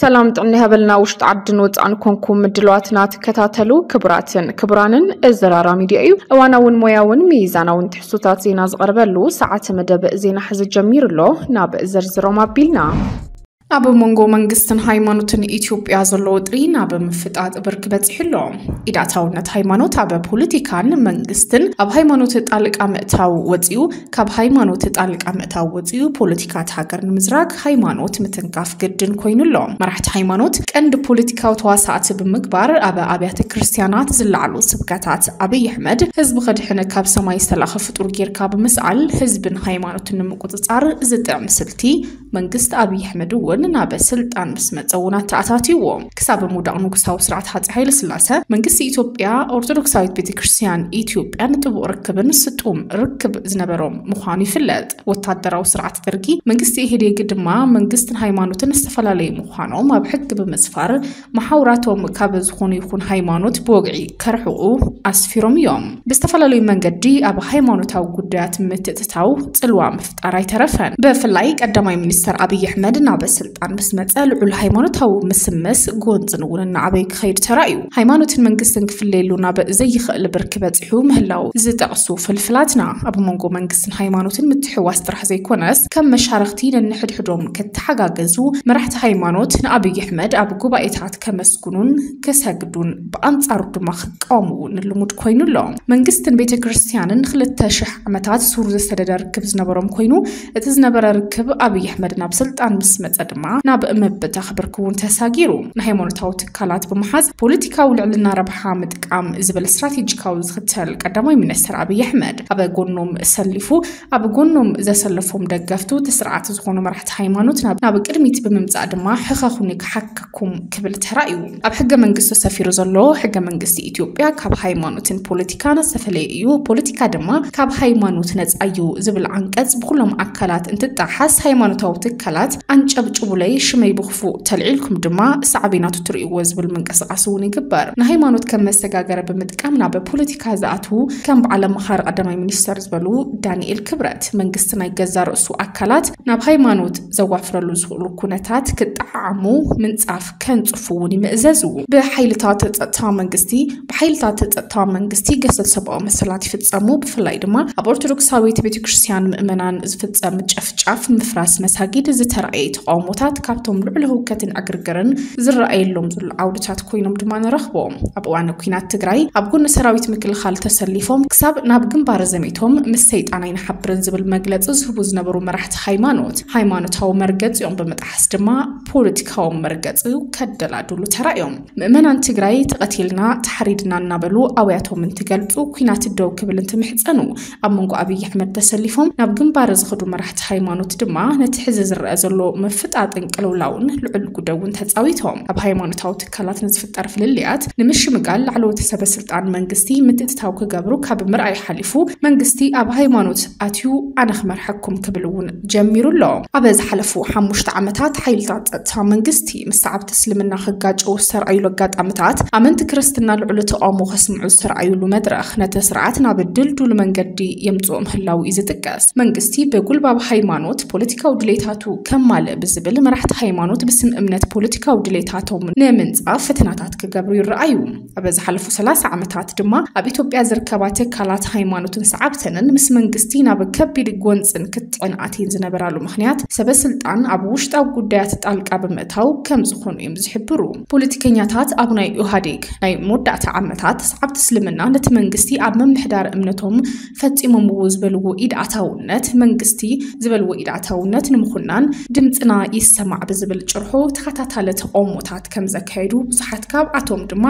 ሰላም ጥዕና ይሃበልና። ውሽጢ ዓድን ወፃእን ኮንኩም ምድለዋትና ትከታተሉ ክቡራትን ክቡራንን፣ እዚ ራራ ሚድያ እዩ። እዋናውን ሞያውን ሚዛናውን ትሕዝቶታት ዜና ዝቐርበሉ ሰዓት መደብ ዜና ሕዚ ጀሚሩ ኣሎ። ናብ ዝርዝሮም ኣቢልና። ኣብ መንጎ መንግስትን ሃይማኖትን ኢትዮጵያ ዘሎ ወጥሪ ናብ ምፍጣጥ ብርኪ በፂሑ ኣሎ። ኢዳታውነት ሃይማኖት ኣብ ፖለቲካን መንግስትን፣ ኣብ ሃይማኖት ጣልቃ ምእታው ወፂኡ፣ ካብ ሃይማኖት ጣልቃ ምእታው ወፂኡ ፖለቲካ እቲ ሃገር ንምዝራግ ሃይማኖት ምትንካፍ ግድን ኮይኑ ኣሎ። መራሕቲ ሃይማኖት ቀንዲ ፖለቲካዊ ተዋሳእቲ ብምግባር፣ ኣብ ኣብያተ ክርስቲያናት ዝለዓሉ ስብከታት ኣብይ ኣሕመድ ህዝቢ ከድሕን ካብ ሰማይ ዝተላእኸ ፍጡር ጌርካ ብምስኣል ህዝብን ሃይማኖትን ንምቁፅፃር ዝጥዕም ስልቲ መንግስቲ ኣብይ ኣሕመድ እውን ናብ ስልጣን ምስ መፀ እውን ኣተኣታትይዎ። ክሳብ ምውዳቕ ንጉሳዊ ስርዓት ሃፀይ ሃይለ ስላሰ መንግስቲ ኢትዮጵያ ኦርቶዶክሳዊት ቤተክርስትያን ኢትዮጵያን ጥቡቕ ርክብን ስጡም ርክብ ዝነበሮም ምዃኑ ይፍለጥ። ወታደራዊ ስርዓት ደርጊ መንግስቲ ኢህዴግ ድማ መንግስትን ሃይማኖትን ዝተፈላለዩ ምዃኖም ኣብ ሕጊ ብምስፋር፣ መሓውራቶም ካብ ዝኾኑ ይኹን ሃይማኖት ብወግዒ ከርሕቑ ኣስፊሮም እዮም። ብዝተፈላለዩ መንገዲ ኣብ ሃይማኖታዊ ጉዳያት ምትእትታው ፅልዋ ምፍጣር ኣይተረፈን። ብፍላይ ቀዳማይ ሚኒስተር ኣብይ ኣሕመድ ናብ ስልጣን ምስ መፀ ልዑል ሃይማኖታዊ ምስምስ ጎንፅን እውን እናዓበየ ክኸይድ ተራእዩ። ሃይማኖትን መንግስትን ክፍለየሉ ናብ ዘይኽእል ብርኪ በፂሑ ምህላው ዝጠቕሱ ፍልፍላትና፣ ኣብ መንጎ መንግስትን ሃይማኖትን ምትሕዋስ ጥራሕ ዘይኮነስ፣ ከም መሻርኽቲ ነንሕድሕዶም ክተሓጋገዙ፣ መራሕቲ ሃይማኖት ንኣብይ ኣሕመድ ኣብ ጉባኤታት ከመስግኑን ክሰግዱን ብኣንጻሩ ድማ ክቃወምዎ ንልሙድ ኮይኑ ኣሎ። መንግስትን ቤተ ክርስቲያንን ንክልተ ሽሕ ዓመታት ሱር ዝሰደደ ርክብ ዝነበሮም ኮይኑ፣ እቲ ዝነበረ ርክብ ኣብይ ኣሕመድ ናብ ስልጣን ምስ መጸ ድማ ናብ ምብታኽ ብርኪ እውን ተሳጊሩ። ንሃይማኖታዊ ትካላት ብምሓዝ ፖለቲካዊ ልዕልና ረብሓ ምጥቃም ዝብል ስትራቴጂካዊ ዝኽተል ቀዳማይ ሚኒስትር ኣብይ ኣሕመድ፣ ኣብ ጎኖም ሰሊፉ፣ ኣብ ጎኖም ዘሰለፎም ደገፍቱ እቲ ስርዓት ዝኾኑ መራሕቲ ሃይማኖት ናብ፣ ናብ ቅድሚት ብምምጻእ ድማ ሕኸኹኒ ክሓከኩም ክብል ተራእዩ። ኣብ ሕገ መንግስቱ ሰፊሩ ዘሎ ሕገ መንግስቲ ኢትዮጵያ ካብ ሃይማኖትን ፖለቲካን ዝተፈለየ እዩ፣ ፖለቲካ ድማ ካብ ሃይማኖት ነጻ እዩ ዝብል ዓንቀጽ ብኩሎም ኣካላት እንትጣሓስ፣ ሃይማኖታዊ ትካላት ኣንጨብጭቡለይ፣ ሽመይ ብኽፉእ ተልዒልኩም ድማ ሳዕቤናቱ ትርእይዎ ዝብል ምንቅስቃስ እውን ይግበር። ንሃይማኖት ከም መሰጋገሪ ብምጥቃም ናብ ፖለቲካ ዝኣትዉ ከም በዓል ኣማኻሪ ቀዳማይ ሚኒስተር ዝበሉ ዳንኤል ክብረት፣ መንግስቲ ናይ ገዛ ርእሱ ኣካላት ናብ ሃይማኖት ዘዋፍረሉ ዝኽእሉ ኩነታት ክጠዓዓሙ ምንጻፍ ከንጽፉ እውን ይምእዘዙ። ብሓይልታት ጸጥታ መንግስቲ፣ ብሓይልታት ጸጥታ መንግስቲ ገሰት ሰብኣዊ መሰላት ይፍጸሙ። ብፍላይ ድማ ኣብ ኦርቶዶክሳዊት ቤተክርስትያን ምእመናን ዝፍጸም ጨፍጫፍ፣ ምፍራስ መሳጊድ ዝተራእየ ተቃውሞታት ካብቶም ልዑል ህውከትን ዕግርግርን ዝረኣየሎም ዘሎ ዓውድታት ኮይኖም ድማ ንረኽቦም። ኣብ እዋን ኲናት ትግራይ ኣብ ጎኒ ሰራዊት ምክልኻል ተሰሊፎም ክሳብ ናብ ግንባር ዘሚቶም ምስ ሰይጣን ኣይንሓብርን ዝብል መግለጺ ዝህቡ ዝነበሩ መራሕቲ ሃይማኖት፣ ሃይማኖታዊ መርገጺኦም ብምጥሓስ ድማ ፖለቲካዊ መርገጺ ከደላድሉ ተራእዮም። ምእመናን ትግራይ ተቐቲልና፣ ተሓሪድና እናበሉ ኣውያቶም እንትገልጹ፣ ኲናት ደው ክብል እንትምሕጸኑ፣ ኣብ መንጎ ኣብይ ኣሕመድ ተሰሊፎም ናብ ግንባር ዝኸዱ መራሕቲ ሃይማኖት ድማ ነቲ ሕዚ ዝረአ ዘሎ ምፍጣጥን ቅልውላውን ልዑል ግደ እውን ተጻዊቶም። ኣብ ሃይማኖታዊ ትካላት ንዝፍጠር ፍልልያት ንምሽምጋል ላዕለዎት ሰበ ስልጣን መንግስቲ ምትእትታው ክገብሩ ካብ ምርኣይ ሓሊፉ፣ መንግስቲ ኣብ ሃይማኖት ኣትዩ ኣነ ክመርሐኩም ክብል እውን ጀሚሩ ኣሎ። ኣብ ዝሓለፉ ሓሙሽተ ዓመታት ሓይልታት ጸጥታ መንግስቲ ምስ ሰዓብቲ እስልምና ክጋጨው ዝተርኣዩሉ ኣጋጣሚታት፣ ኣመንቲ ክርስትና ልዑል ተቃውሞ ከስምዑ ዝተርኣዩሉ መድረኽ፣ ነቲ ስርዓት ናብ ድልዱል መንገዲ የምጽኦ ምህላው እዩ ዝጥቀስ። መንግስቲ ብጉልባብ ሃይማኖት ፖለቲካዊ ድሌታቱ ከማልእ ብዝብል፣ መራሕቲ ሃይማኖት ብስም እምነት ፖለቲካዊ ድሌታቶም ንምንጻፍ ፈተናታት ክገብሩ ይረኣዩ። ኣብ ዝሓለፉ ሰላሳ ዓመታት ድማ ኣብ ኢትዮጵያ ዝርከባ ትካላት ሃይማኖትን ሰዓብተንን ምስ መንግስቲ ናብ ከቢድ ጎንጽን ክትዕን ኣትየን ዝነበራሉ ምኽንያት፣ ሰበ ስልጣን ኣብ ውሽጣዊ ጉዳያት ጣልቃ ብምእታው ከም ዝኾኑ እዮም ዝሕብሩ። ፖለቲከኛታት ኣብ ናይ ኢህኣዴግ ናይ መወዳእታ ዓመታት፣ ሰዓብቲ እስልምና ነቲ መንግስቲ ኣብ ምምሕዳር እምነቶም ፈጺሞምዎ ዝበልዎ ኢድ ኣታውነት መንግስቲ፣ ዝበልዎ ኢድ ኣታውነት ንምኹናን ድምፅና ይሰማዕ ብዝብል ጭርሖ ተኸታታሊ ተቃውሞታት ከም ዘካየዱ፣ ብዙሓት ካብኣቶም ድማ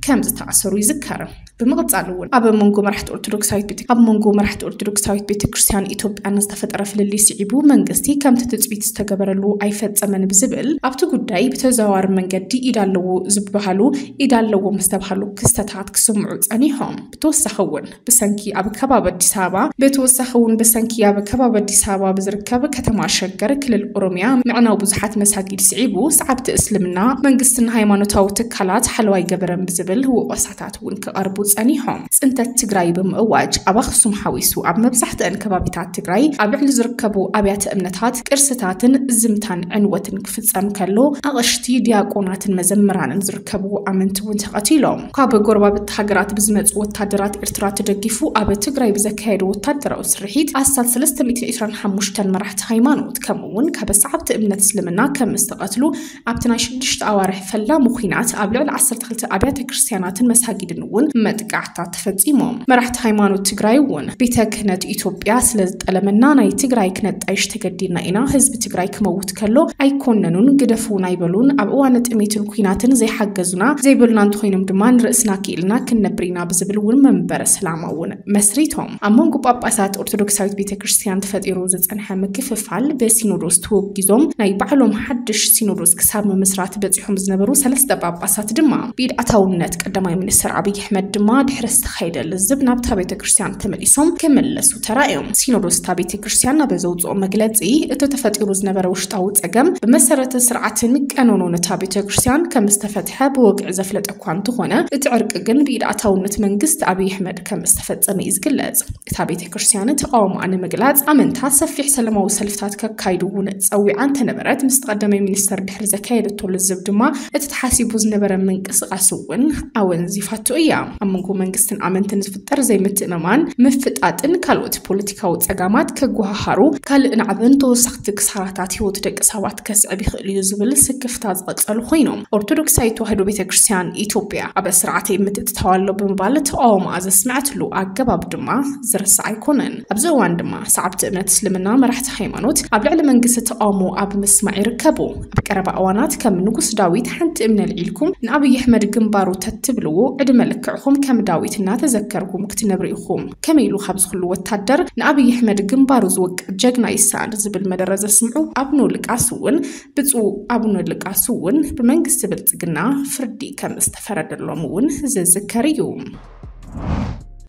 ከም ዝተኣሰሩ ይዝከር። ብምቕጻል እውን ኣብ መንጎ መራሕቲ ኦርቶዶክሳዊት ቤተ-፣ ኣብ መንጎ መራሕቲ ኦርቶዶክሳዊት ቤተክርስትያን ኢትዮጵያን ዝተፈጠረ ፍልልይ ስዒቡ፣ መንግስቲ ከምቲ ትጽቢት ዝተገበረሉ ኣይፈጸመን ብዝብል፣ ኣብቲ ጉዳይ ብተዘዋዋሪ መንገዲ ኢድ ኣለዎ ዝበሃሉ፣ ኢድ ኣለዎም ዝተባሃሉ ክስተታት ክስምዑ ጸኒሖም። ብተወሳኺ እውን ብሰንኪ ኣብ ከባቢ ኣዲስ ኣበባ፣ ብተወሳኺ እውን ብሰንኪ ኣብ ከባቢ ኣዲስ ኣበባ ብዝርከብ ከተማ ሸገር ክልል ኦሮሚያ ምዕናው ብዙሓት መሳጊድ ስዒቡ፣ ሰዓብቲ እስልምና መንግስትን ሃይማኖታዊ ትካላት ሓለዋ ኣይገበረን ብዝብል ወቐሳታት እውን ክቐርቡ ጸኒሖም። ጽንተት ትግራይ ብምእዋጅ ኣብ ኣኽሱም ሓዊሱ ኣብ መብዛሕትአን ከባቢታት ትግራይ ኣብ ልዕሊ ዝርከቡ ኣብያተ እምነታት ቅርስታትን ዝምታን ዕንወትን ክፍጸም ከሎ ኣቕሽቲ ዲያቆናትን መዘምራንን ዝርከቡ ኣመንቲ እውን ተቐቲሎም። ካብ ጎረባብቲ ሃገራት ብዝመጹ ወታደራት ኤርትራ ተደጊፉ ኣብ ትግራይ ብዘካየዱ ወታደራዊ ስርሒት ኣስታት ሰለስተ ሚእትን ዕስራን ሓሙሽተን መራሕቲ ሃይማኖት ከምኡ እውን ካብ ሰዓብቲ እምነት እስልምና ከም ዝተቐትሉ ኣብቲ ናይ ሽዱሽተ ኣዋርሕ ፈላሚ ኲናት ኣብ ልዕሊ ዓሰርተ ክልተ ኣብያተ ክርስቲያናትን መሳጊድን እውን መጥቃዕታት ተፈጺሞም። መራሕቲ ሃይማኖት ትግራይ እውን ቤተ ክህነት ኢትዮጵያ ስለ ዝጠለመና ናይ ትግራይ ክነጣይሽ ተገዲድና ኢና፣ ህዝቢ ትግራይ ክመውት ከሎ ኣይኮነኑን ግደፉ ናይበሉን ኣብ እዋነ ጥሜትን ኲናትን ዘይሓገዙና ዘይበሉና እንተኾይኖም ድማ ንርእስና ክኢልና ክንነብር ኢና ብዝብል እውን መንበረ ሰላማ እውን መስሪቶም። ኣብ መንጎ ጳጳሳት ኦርቶዶክሳዊት ቤተ ክርስቲያን ተፈጢሩ ዝጸንሐ ምክፍፋል ብሲኖዶስ ተወጊዞም ናይ ባዕሎም ሓድሽ ሲኖዶስ ክሳብ ምምስራት በጺሖም ዝነበሩ ሰለስተ ጳጳሳት ድማ ብኢድ ኣታውነት ቀዳማይ ሚኒስትር ኣብይ ኣሕመድ ድማ ድሕሪ ዝተኻየደ ልዝብ ናብታ ቤተ ክርስቲያን ተመሊሶም ክምለሱ ተራእዮም። ሲኖዶስ እታ ቤተ ክርስቲያን ኣብ ዘውፅኦ መግለፂ እቲ ተፈጢሩ ዝነበረ ውሽጣዊ ጸገም ብመሰረተ ስርዓትን ቀኖኖን እታ ቤተ ክርስቲያን ከም ዝተፈትሐ ብወግዒ ዘፍለጠ እኳ እንተኾነ እቲ ዕርቂ ግን ብኢድ ኣታውነት መንግስቲ ኣብይ ኣሕመድ ከም ዝተፈጸመ እዩ ዝግለጽ። እታ ቤተ ክርስቲያን ተቃውሞኣ ንምግላጽ ኣመንታ ሰፊሕ ሰላማዊ ሰልፍታት ከካይዱ እውን ጸዊዓ እንተነበረት ምስ ቀዳማይ ሚኒስተር ድሕሪ ዘካየደቶ ልዝብ ድማ እቲ ተሓሲቡ ዝነበረ ምንቅስቃስ እውን ኣወንዚፋቶ እያ። ኣብ መንጎ መንግስትን ኣመንትን ዝፍጠር ዘይምትእምማን ምፍጣጥን ካልኦት ፖለቲካዊ ጸጋማት ከጓሃሃሩ ካልእ ናዕብን ተወሳኽቲ ክሳራታት ህይወት ደቂ ሰባት ከስዕብ ይኽእል እዩ ዝብል ስክፍታ ዝቐጸሉ ኮይኖም ኦርቶዶክሳዊት ተዋህዶ ቤተ ክርስቲያን ኢትዮጵያ ኣብ ስርዓተ የምትእትታው ኣሎ ብምባል ተቃውሞኣ ዘስምዐትሉ ኣገባብ ድማ ዝርሳዕ ኣይኮነን። ኣብዚ እዋን ድማ ሰዓብቲ እምነት እስልምና መራሕቲ ሃይማኖት ኣብ ልዕሊ መንግስቲ ተቃውሞ ኣብ ምስማዕ ይርከቡ። ኣብ ቀረባ እዋናት ከም ንጉስ ዳዊት ሓንቲ እምኒ ኣልዒልኩም ንኣብይ ኣሕመድ ግንባሩ ተትብልዎ ዕድመ ልክዕኹም ከም ዳዊት እናተዘከርኩም ክትነብሩ ኢኹም። ከመይ ኢሉ ካብዚ ኩሉ ወታደር ንኣብይ ኣሕመድ ግንባሩ ዝወቅዕ ጀግና ይሰኣን ዝብል መደረ ዘስምዑ ኣቡነ ልቃስ እውን ብፁዕ ኣቡነ ልቃስ እውን ብመንግስቲ ብልጽግና ፍርዲ ከም ዝተፈረደሎም እውን ዝዝከር እዩ።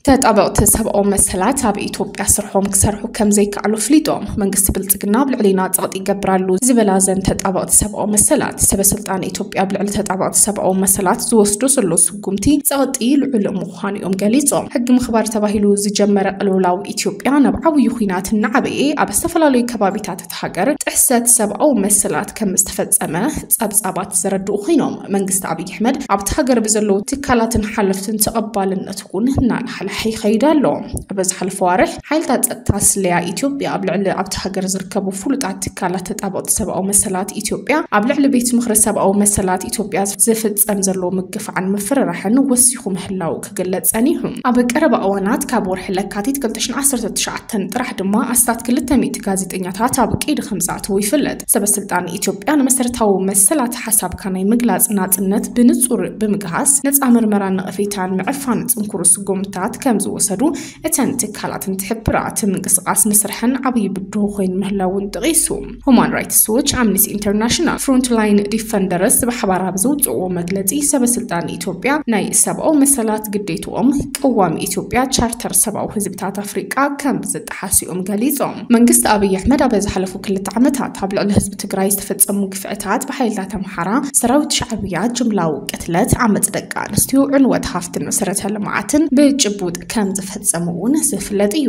ተጣበቕቲ ሰብኣዊ መሰላት ኣብ ኢትዮጵያ ስርሖም ክሰርሑ ከም ዘይከኣሉ ኣፍሊጦም። መንግስቲ ብልጽግና ኣብ ልዕሊና ጸቕጢ ይገብር ኣሎ ዝበላ እዘን ተጣበቕቲ ሰብኣዊ መሰላት፣ ሰበ ስልጣን ኢትዮጵያ ኣብ ልዕሊ ተጣበቕቲ ሰብኣዊ መሰላት ዝወስዶ ዘሎ ስጉምቲ ጸቕጢ ልዑል ምዃኑ እዮም ገሊጾም። ሕጊ ምኽባር ተባሂሉ ዝጀመረ ቅልውላው ኢትዮጵያ ናብ ዓብዪ ኲናት እናዓበየ ኣብ ዝተፈላለዩ ከባቢታት እታ ሃገር ጥሕሰት ሰብኣዊ መሰላት ከም ዝተፈጸመ ጸብጻባት ዘረድኡ ኮይኖም፣ መንግስቲ ኣብይ ኣሕመድ ኣብቲ ሃገር ብዘለዉ ትካላትን ሓለፍትን ተቐባልነት እውን እናላሕለሐ ይኸይድ ኣሎ። ኣብ ዝሓለፈ ዋርሕ ሓይልታት ጸጥታ ስለያ ኢትዮጵያ ኣብ ልዕሊ ኣብቲ ሃገር ዝርከቡ ፍሉጣት ትካላት ተጣበቕቲ ሰብኣዊ መሰላት ኢትዮጵያ ኣብ ልዕሊ ቤት ምኽሪ ሰብኣዊ መሰላት ኢትዮጵያ ዝፍጸም ዘሎ ምግፋዕን ምፍርራሕን ወሲኹ ምህላው ክግለጽ ጸኒሑ። ኣብ ቀረባ እዋናት ካብ ወርሒ ለካቲት ክልተ ሽሕን ዓሰርተ ትሽዓተን ጥራሕ ድማ ኣስታት ክልተ ሚእቲ ጋዜጠኛታት ኣብ ቀይዲ ከም ዝኣተዉ ይፍለጥ። ሰበ ስልጣን ኢትዮጵያ ንመሰረታዊ መሰላት ሓሳብካ ናይ ምግላጽ ናጽነት ብንጹር ብምግሃስ ነጻ ምርመራን ነቐፌታን ምዕፋን ጽንኩር ስጉምትታት ከም ዝወሰዱ እተን ትካላት እንትሕብራ፣ እቲ ምንቅስቃስ ንስርሐን ዓብዪ ብድሆ ኮይኑ ምህላውን ጠቒሱ። ሁማን ራይትስ ዎች፣ ኣምነስቲ ኢንተርናሽናል፣ ፍሮንትላይን ዲፈንደርስ ብሓባር ኣብ ዘውፅእዎ መግለፂ፣ ሰበ ስልጣን ኢትዮጵያ ናይ ሰብኣዊ መሰላት ግዴትኦም ቅዋም ኢትዮጵያ፣ ቻርተር ሰብኣዊ ህዝብታት ኣፍሪቃ ከም ዝጠሓሱ እዮም ገሊፆም። መንግስቲ ኣብይ ኣሕመድ ኣብ ዝሓለፉ ክልተ ዓመታት ኣብ ልዕሊ ህዝቢ ትግራይ ዝተፈፀሙ ግፍዕታት ብሓይልታት ኣምሓራ፣ ሰራዊት ሻዕብያ፣ ጅምላዊ ቅትለት፣ ዓመፅ ደቂ ኣንስትዮ፣ ዕንወት ሃፍትን መሰረተ ልምዓትን ብጭቡጥ ከም ዝፈፀሙ እውን ዝፍለጥ እዩ።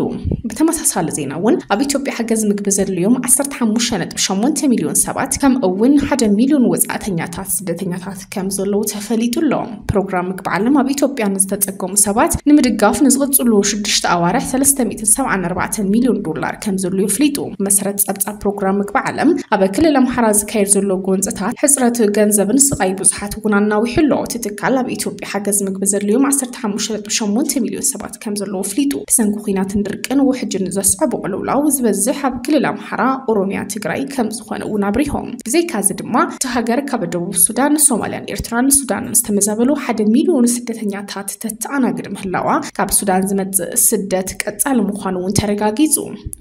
ብተመሳሳሊ ዜና እውን ኣብ ኢትዮጵያ ሓገዝ ምግቢ ዘድልዮም ዓሰርተ ሓሙሽተ ነጥቢ ሸሞንተ ሚልዮን ሰባት ከምኡ እውን ሓደ ሚልዮን ወፃእተኛታት ስደተኛታት ከም ዘለዉ ተፈሊጡ ኣሎ። ፕሮግራም ምግቢ ዓለም ኣብ ኢትዮጵያ ንዝተፀገሙ ሰባት ንምድጋፍ ንዝቕፅሉ ሽዱሽተ ኣዋርሕ ሰለስተ ሚእትን ሰብዓን ኣርባዕተን ሚልዮን ዶላር ከም ዘድልዮ ኣፍሊጡ። መሰረት ፀብፃብ ፕሮግራም ምግቢ ዓለም ኣብ ክልል ኣምሓራ ዝካየድ ዘሎ ጎንፅታት ሕፅረት ገንዘብን ስቓይ ብዙሓት እውን ኣናዊሑ ኣሎ። እቲ ትካል ኣብ ኢትዮጵያ ሓገዝ ምግቢ ዘድልዮም ዓሰርተ ሓሙሽተ ነጥቢ ሸሞንተ ሚልዮን ሰባት ከም ዘለዎ ኣፍሊጡ። ብሰንኪ ኲናትን ድርቅን ውሕጅን ዘስዐቦ ቅልውላው ዝበዝሕ ኣብ ክልል ኣምሓራ፣ ኦሮሚያ፣ ትግራይ ከም ዝኾነ እውን ኣብሪሆም። ብዘይካዚ ድማ እታ ሃገር ካብ ደቡብ ሱዳን፣ ሶማልያን ኤርትራን ሱዳንን ዝተመዛበሉ ሓደ ሚልዮን ስደተኛታት ተተኣናግድ ምህላዋ፣ ካብ ሱዳን ዝመጽእ ስደት ቀጻሊ ምዃኑ እውን ተረጋጊጹ።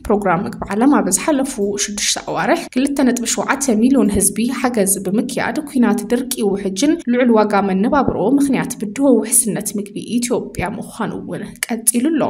ፕሮግራም ምግቢ ዓለም ኣብ ዝሓለፉ ሽዱሽተ ኣዋርሕ ክልተ ነጥቢ ሸውዓተ ሚልዮን ህዝቢ ሓገዝ ብምክያድ፣ ኲናት፣ ድርቂ፣ ውሕጅን ልዑል ዋጋ መነባብሮ ምኽንያት ብድሆ ውሕስነት ምግቢ ኢትዮጵያ ምዃኑ እውን ቀጺሉ ኣሎ።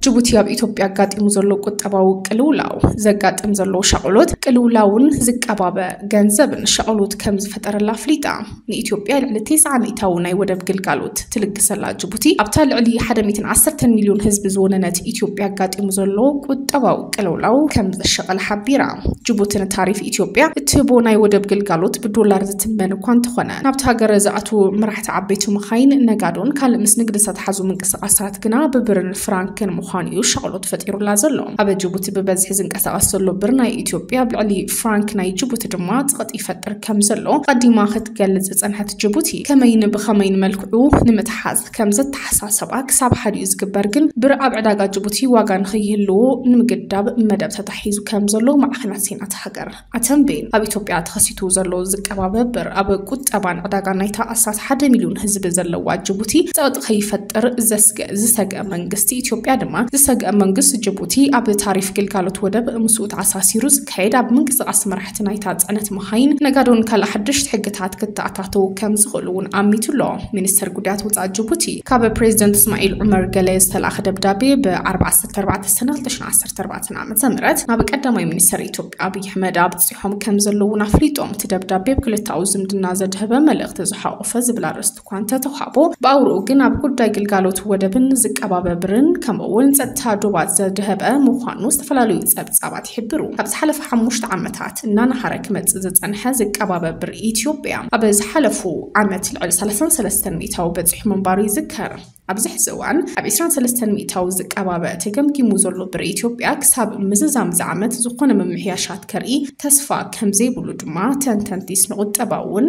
ጅቡቲ ኣብ ኢትዮጵያ ኣጋጢሙ ዘሎ ቁጠባዊ ቅልውላው ዘጋጥም ዘሎ ሻቕሎት ቅልውላውን ዝቀባበ ገንዘብን ሻቕሎት ከም ዝፈጠረላ ኣፍሊጣ። ንኢትዮጵያ ልዕሊ ተስዓ ሚእታዊ ናይ ወደብ ግልጋሎት ትልግሰላ ጅቡቲ ኣብታ ልዕሊ ሓደ ሚእትን ዓሰርተን ሚልዮን ህዝቢ ዝወነነት ኢትዮጵያ ኣጋጢሙ ዘሎ ቁጠባዊ ቅልውላው ከም ዘሸቐለ ሓቢራ። ጅቡቲ ንታሪፍ ኢትዮጵያ እትህቦ ናይ ወደብ ግልጋሎት ብዶላር ዝትመን እኳ እንተኾነ፣ ናብቲ ሃገር ዝኣትዉ መራሕቲ ዓበይቲ መኻይን፣ ነጋዶን ካልእ ምስ ንግዲ ዝተተሓዙ ምንቅስቓሳት ግና ብብርን ፍራንክን ምዃኑ እዩ ሻቕሎት ፈጢሩላ ዘሎ። ኣብ ጅቡቲ ብበዝሒ ዝንቀሳቐስ ዘሎ ብር ናይ ኢትዮጵያ ኣብ ልዕሊ ፍራንክ ናይ ጅቡቲ ድማ ጸቕጢ ይፈጥር ከም ዘሎ ቀዲማ ክትገልጽ ዝጸንሐት ጅቡቲ፣ ከመይን ብኸመይን መልክዑ ንምትሓዝ ከም ዘተሓሳሰባ ክሳብ ሓዲኡ ዝግበር ግን ብር ኣብ ዕዳጋ ጅቡቲ ዋጋ ንኸይህልዎ ንምግዳብ መደብ ተታሒዙ ከም ዘሎ ማዕኸናት ዜና እታ ሃገር ኣተንቤን። ኣብ ኢትዮጵያ ተኸሲቱ ዘሎ ዝቀባበ ብር ኣብ ቁጠባን ዕዳጋ ናይታ ኣስታት ሓደ ሚልዮን ህዝቢ ዘለዋ ጅቡቲ ጸቕጢ ከይፈጥር ዘስገ-፣ ዝሰግአ መንግስቲ ኢትዮጵያ ድማ ዝሰግአ መንግስቲ ጅቡቲ ኣብ ታሪፍ ግልጋሎት ወደብ ምስኡ ተኣሳሲሩ ዝካየድ ኣብ ምንቅስቓስ መራሕቲ ናይታ ጽዕነት መኻይን፣ ነጋዶን ካልእ ሓደሽቲ ሕግታት ክተኣታተው ከም ዝኽእሉ እውን ኣሚቱ ኣሎ። ሚኒስትር ጉዳያት ወጻኢ ጅቡቲ ካብ ፕሬዚደንት እስማዒል ዑመር ገለ ዝተላእኸ ደብዳቤ ብ ዓሰርተ ኣርባዕተ ሰነ ክልተ ሽሕን ዓሰርተ ኣርባዕተን ዓመተ ምህረት ናብ ቀዳማይ ሚኒስትር ኢትዮጵያ ኣብይ ኣሕመድ ኣብጺሖም ከም ዘለዉ እውን ኣፍሊጦም። እቲ ደብዳቤ ኣብ ክልተኣዊ ዝምድና ዘድህበ መልእኽቲ ዝሓቖፈ ዝብል ኣርእስቲ እኳ እንተተዋህቦ፣ ብኣውርኡ ግን ኣብ ጉዳይ ግልጋሎት ወደብን ዝቀባበ ብርን ከምኡ እውን ጸጥታ ዶባት ዘድህበ ምዃኑ ዝተፈላለዩ ጸብጻባት ይሕብሩ። ኣብ ዝሓለፈ ሓሙሽተ ዓመታት እናነሃረ ክመጽእ ዝጸንሐ ዝቀባበ ብር ኢትዮጵያ ኣብ ዝሓለፉ ዓመት ልዕሊ ሰላሳን ሰለስተን ሚእታዊ በጺሑ ምንባሩ ይዝከር። ኣብዚ ሕዚ እዋን ኣብ ዕስራን ሰለስተን ሚእታዊ ዝቀባበ ተገምጊሙ ዘሎ ብር ኢትዮጵያ ክሳብ ምዝዛም እዚ ዓመት ዝኾነ ምምሕያሻት ከርኢ ተስፋ ከም ዘይብሉ ድማ ተንተንቲ ስነ ቁጠባ እውን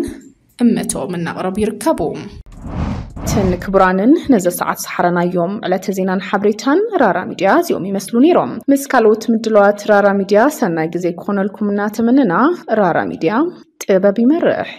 እምነቶም እናቕረቡ ይርከቡ። እትን ክቡራንን ነዚ ሰዓት ዝሓረናዮም ዕለተ ዜናን ሓበሬታን ራራ ሚድያ እዚኦም ይመስሉ ነይሮም። ምስ ካልኦት ምድለዋት ራራ ሚድያ ሰናይ ግዜ ክኾነልኩም እናተመነና፣ ራራ ሚድያ ጥበብ ይመርሕ።